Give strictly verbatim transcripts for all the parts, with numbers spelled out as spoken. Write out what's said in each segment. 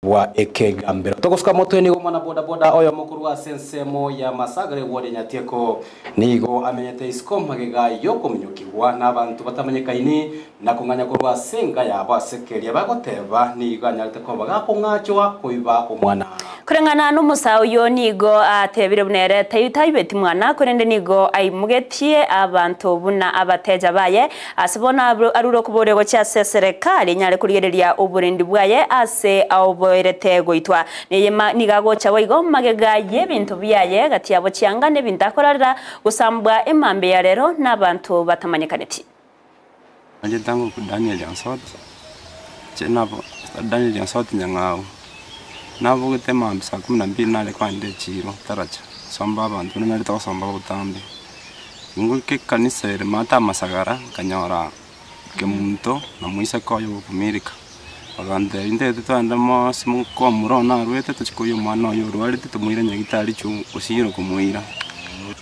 Bwa ekegambero togosuka motwe nigo mwana bodaboda oyo mokuru ase ensemo ya Masagare ward Nyatieko nigo amenyete isiko magega yokominyokigwa n'abantu batamanyekaini na kong'anya korwa ase enka yabo ase keria bagoteba nigo anyarete koba gakong'achwa koiba omwana. Kureng'ana n'omusa oyo nigo atebire buna ere taibeti mwana korende nigo aimugetie abanto buna abateja baye ase bono arure okobore gochia ase serikali nyare kurigereria oborendi bwaye ase aoboerete goitwa neye nigo agocha boigo magega y'ebinto biaye gati yabo chianga n'ebinto akorarera gosambwa emambe ya rero n'abanto batamanyekaneti. Nje tangu Daniel Ansot chenabo Daniel Ansot nyang'au nabogete mambi saa kumi na mbili nare kwande chiro taracha somba abantu nare togosomba botambe ngoike kanisa ere mata amasagara nkanyora kemunto na moiseke oyo gokumirika bagantebia intete twende mosi komura narwete tochikoyia omwana oyo orwarete tomoire nyagitari chu osire komoira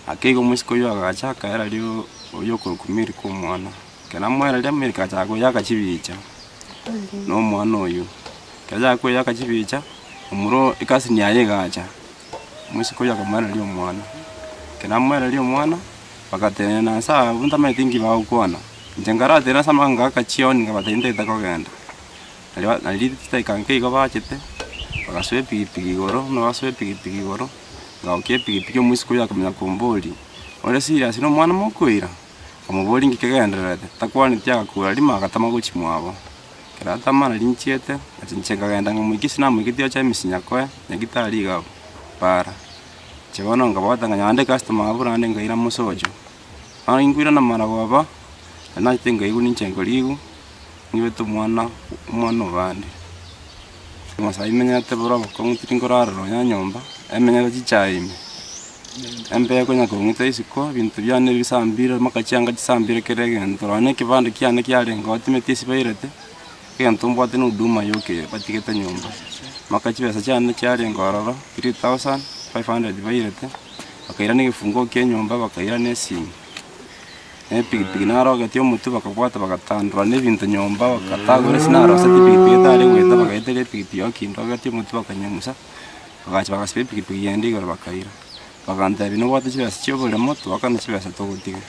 ake igo omoiseke oyo agacha akaera rio oyo okorukumirika omwana kera mweraria Amerika achaka koyaka chibicha na omwana oyo kera achaka koyaka chibicha omuro ekasini yaye egacha omoiseke oyo akamweraria omwana kera amweraria omwana bagatenena nsa abwo ntamanyeti nki bagokwana inche nkaratenena ase amang'ana ngaka chioni nkabatebia ntagete kogenda naria nari chidakika nke igo bachete bagasoa epikipiki igoro buna basoa epikipiki igoro ngagokia epikipiki omoiseke oyo akamanya komboria ore serious na omwana mokoira nkamoboria nki kegendererete takwaneti agakura rimo agatama gochia mwabo kero atama nari nchiete achi inche nkagenda nkamoikia ase namoiketie ocha emisi nyakoe nyagitari iga abwo para inche bono nkabwata nkanyora naende ecustomer abwo naende nkaira mosocho bono inkoirana marogoba nachete nkaigwa ninche nkoriigwa ng'ibete omwana omwana obande. Amasayi menyete boro obokong'u tiri nkorara nonya nyomba emenyete chichae ime embe ekonya kong'ita isiko ebinto biane bisambire mpaka chianga chisambire kera egento nonya na ekebande kiane kiarenge oo timeti ase bairete egento mbwate na huduma yoka eye batigete nyomba mpaka chibesa chiane chiarenge ororo three thousand five hundred bairete bakaira na egefunguo kia enyomba bakaira na esimi na epikipiki narogetie omotwe bakabwata bagatandora na ebinto nyomba bakatagora ase naroseti epikipiki etari goeta bagaeteria epikipiki yokindogetie omotwe bakanyang'usa bagacha bagasiba epikipiki yende igoro bakaira bagantebia nobwate chibesa chia oboremo twakane chibesa togotiga.